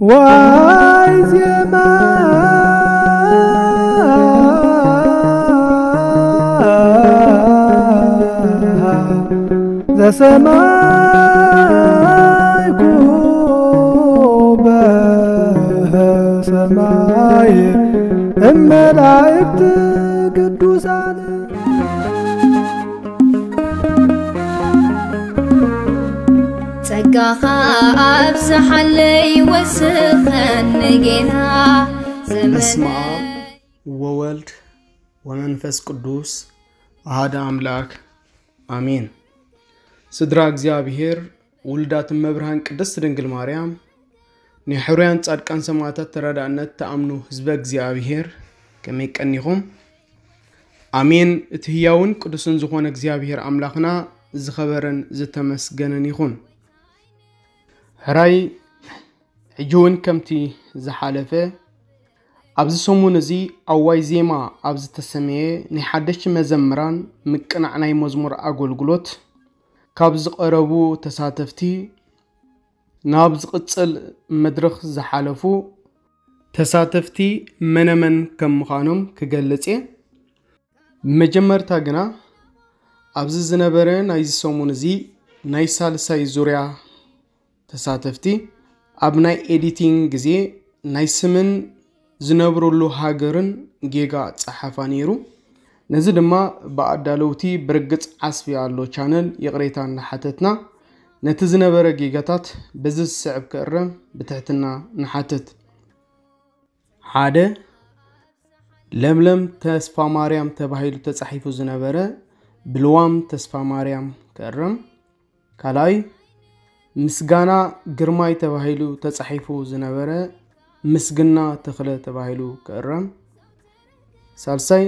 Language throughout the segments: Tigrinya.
ዋይ ዜማ ዘሰማይኩ በሰማይ እመላእክት ቅዱሳን። ጸጋኻ ኣብዝሓለይ ወስኸኒ ጌና። በስመ አብ ወወልድ ወመንፈስ ቅዱስ አሐደ አምላክ አሜን። ስድራ እግዚኣብሔር ውሉዳት እመብርሃን ቅድስት ድንግል ማርያም፣ ናይ ሕሩያን ጻድቃን ሰማዕታት ተረዳእነት ትኣምኑ ህዝበ እግዚኣብሔር፣ ከመይ ቀኒኹም? ኣሜን። እቲ ህያውን ቅዱስን ዝኾነ እግዚኣብሔር ኣምላኽና ዝኸበረን ዝተመስገነን ይኹን። ሕራይ ሕጂ እውን ከምቲ ዝሓለፈ ኣብዚ ሰሙን እዚ ኣዋይ ዜማ ኣብ ዝተሰመየ ናይ ሓደሽቲ መዘምራን ምቅናዕ ናይ መዝሙር ኣገልግሎት ካብ ዝቐረቡ ተሳተፍቲ ናብ ዝቕጽል መድረኽ ዝሓለፉ ተሳተፍቲ መነመን ከም ምዃኖም ክገልጽ እየ። ብመጀመርታ ግና ኣብዚ ዝነበረ ናይዚ ሰሙን እዚ ናይ ሳልሳይ ዙርያ ተሳተፍቲ ኣብ ናይ ኤዲቲንግ ግዜ ናይ ስምን ዝነብርሉ ሃገርን ጌጋ ጸሓፋ ነይሩ። ነዚ ድማ ብኣዳለውቲ ብርግጽ ዓስቢ ኣሎ ቻነል ይቕሬታ እናሓተትና ነቲ ዝነበረ ጌጋታት በዚ ዝስዕብ ክእረም ብትሕትና ንሓትት። ሓደ፣ ለምለም ተስፋ ማርያም ተባሂሉ ተጻሒፉ ዝነበረ ብልዋም ተስፋ ማርያም ክእረም። ካልኣይ፣ ምስጋና ግርማይ ተባሂሉ ተጻሒፉ ዝነበረ ምስግና ተኽለ ተባሂሉ ክእረም። ሳልሳይ፣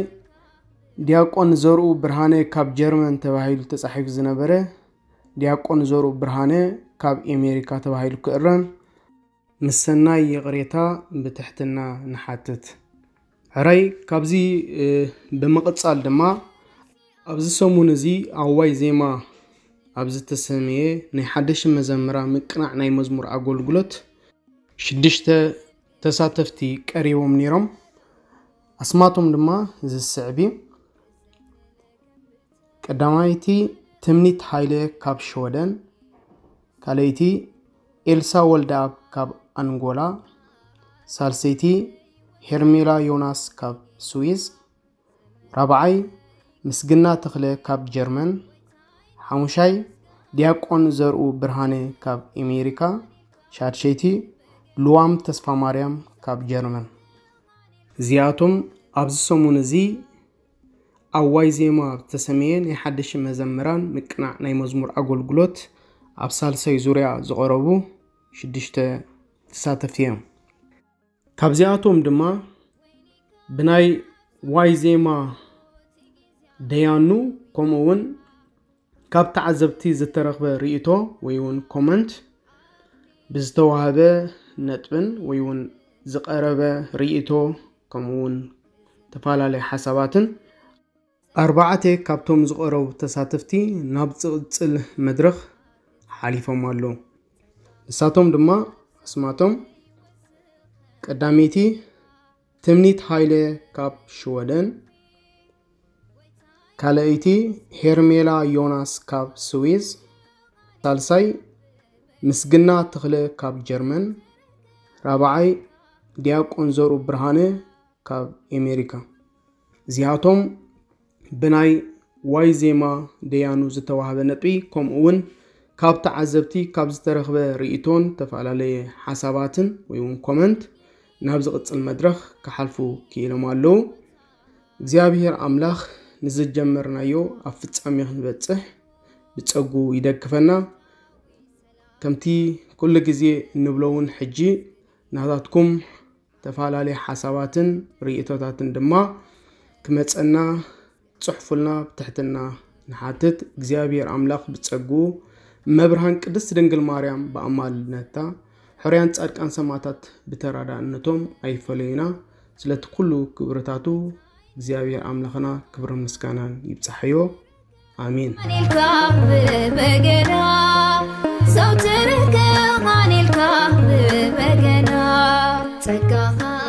ዲያቆን ዘርኡ ብርሃነ ካብ ጀርመን ተባሂሉ ተጻሒፉ ዝነበረ ዲያቆን ዘርኡ ብርሃነ ካብ ኤሜሪካ ተባሂሉ ክእረም። ምስ ሰናይ ይቕሬታ ብትሕትና ንሓትት። ሕራይ ካብዚ ብምቕጻል ድማ ኣብዚ ሰሙን እዚ ኣዋይ ዜማ ኣብ ዝተሰምየ ናይ ሓደሽ መዘምራ ምቅናዕ ናይ መዝሙር ኣገልግሎት ሽዱሽተ ተሳተፍቲ ቀሪቦም ነይሮም። ኣስማቶም ድማ ዝስዕብ እዩ። ቀዳማይቲ ትምኒት ሃይለ ካብ ሽወደን፣ ካልኣይቲ ኤልሳ ወልደኣብ ካብ ኣንጎላ፣ ሳልሰይቲ ሄርሜላ ዮናስ ካብ ስዊዝ፣ ራብዓይ ምስግና ተኽለ ካብ ጀርመን፣ ሓሙሻይ ዲያቆን ዘርኡ ብርሃነ ካብ ኤሜሪካ፣ ሻድሸይቲ ልዋም ተስፋ ማርያም ካብ ጀርመን። እዚኣቶም ኣብዚ ሰሙን እዚ ኣዋይ ዜማ ዝተሰመየ ናይ ሓደሽ መዘምራን ምቅናዕ ናይ መዝሙር ኣገልግሎት ኣብ ሳልሳይ ዙርያ ዝቐረቡ ሽዱሽተ ተሳተፍቲ እዮም። ካብዚኣቶም ድማ ብናይ ዋይ ዜማ ደያኑ ከምኡ እውን ካብ ተዓዘብቲ ዝተረኽበ ርእይቶ ወይ እውን ኮመንት ብዝተዋህበ ነጥብን ወይ እውን ዝቐረበ ርእይቶ ከምኡ እውን ተፈላለየ ሓሳባትን ኣርባዕተ ካብቶም ዝቐረቡ ተሳተፍቲ ናብ ዝቕጽል መድረኽ ሓሊፎም ኣለዉ። ንሳቶም ድማ ኣስማቶም ቀዳመይቲ ትምኒት ሃይለ ካብ ሽወደን፣ ካልኣይቲ ሄርሜላ ዮናስ ካብ ስዊዝ፣ ሳልሳይ ምስግና ተኽለ ካብ ጀርመን፣ ራብዓይ ዲያቆን ዘርኡ ብርሃነ ካብ ኤሜሪካ። እዚኣቶም ብናይ ዋይ ዜማ ደያኑ ዝተዋህበ ነጥቢ ከምኡ እውን ካብ ተዓዘብቲ ካብ ዝተረኽበ ርእይቶን ተፈላለየ ሓሳባትን ወይ እውን ኮመንት ናብ ዝቕጽል መድረኽ ክሓልፉ ክኢሎም ኣለዉ። እግዚኣብሔር ኣምላኽ ንዝጀመርናዮ ኣብ ፍጻሜ ክንበጽሕ ብጸጉ ይደግፈና። ከምቲ ኩሉ ግዜ እንብሎ እውን ሕጂ ናታትኩም ተፈላለየ ሓሳባትን ርእይቶታትን ድማ ክመጸና ጽሑፉልና ብትሕትና ንሓትት። እግዚኣብሔር ኣምላኽ ብጸጉ መብርሃን ቅድስት ድንግል ማርያም ብኣማልድነታ ሕርያን ጻድቃን ሰማዕታት ብተራዳእነቶም ኣይፈለዩና። ስለቲ ኩሉ ክብርታቱ እግዚኣብሔር ኣምላኽና ክብርን ምስጋናን ይብጻሕዮ። ኣሜን። ማን ኢልካ ብበገና ዘውትር ከማን ኢልካ ብበገና ጸጋኻ